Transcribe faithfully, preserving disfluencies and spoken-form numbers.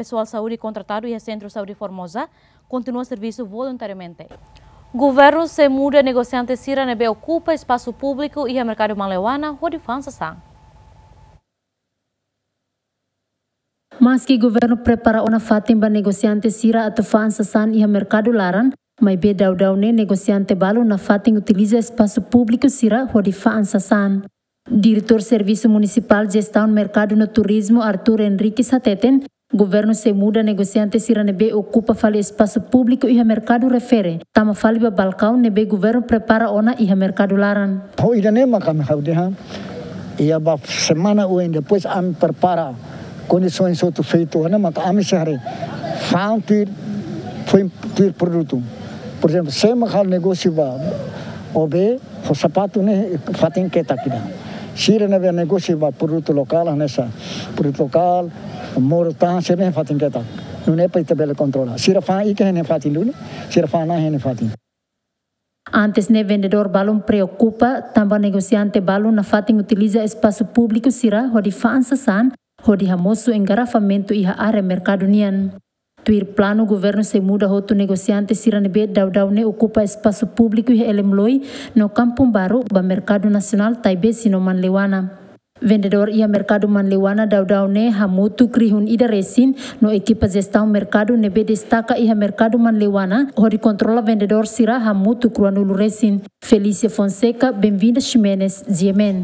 Pesoál saúde kontratadu iha Sentru Saúde Formosa kontinua servisu voluntariamente. Governu sei muda negosiante sira ne'ebé okupa espasu públiku iha merkadu Manleuana hodi fa'an sasán. Maski governu prepara ona fatin ba negosiante sira atu fa'an sasán iha merkadu laran, maibé daudaun ne'e negosiante balu nafatin utiliza espasu públiku sira hodi fa'an sasán. Diretór Servisu Munisipál Jestaun Merkadu no Turizmu, Arthur Henriques, hateten, governu sei muda negosiante sira ne'ebé okupa fali espasu públiku iha merkadu refere, tama fali ba balkaun ne'ebé governu prepara ona iha merkadu laran. Ho ida-ne'e maka ami ha'u dehan, iha ba semana oin depois ami prepara kondisoens hotu feitu ona, maka ami sei haree fa'an tuir, foin tuir produtu. Porezemplu, sé mak halo negósiu ba O B, ho sapatu ne'e fatin ketak ida. Sira ne'ebé negósiu ba produtu lokál, hanesan produtu lokál, modo tahan, sira-ne'e fatin ketak. Nune'e para ita bele kontrola. Sira fa'an iha ne'e fatin duni, sira fa'an iha ne'e fatin. Antes ne'e vendedór balun preokupa, tanba negosiante balun nafatin utiliza espasu públiku sira hodi fa'an sasán, hodi hamosu engarrafamentu iha área merkadu nian. Tuir planu, governu sei muda hotu negosiante sira ne'ebé daudaun ne'e okupa espasu públiku iha Elemloi no Kampung Baru ba merkadu nasionál Taibesi no Manleuana. Vendedór iha merkadu Manleuana daudaun ne'e hamutuk rihun ida resin, no ekipa jestaun merkadu ne'ebé destaka iha merkadu Manleuana hodi kontrola vendedór sira hamutuk ruanulu resin. Felícia Fonseca, Benvinda Ximenes, G M N.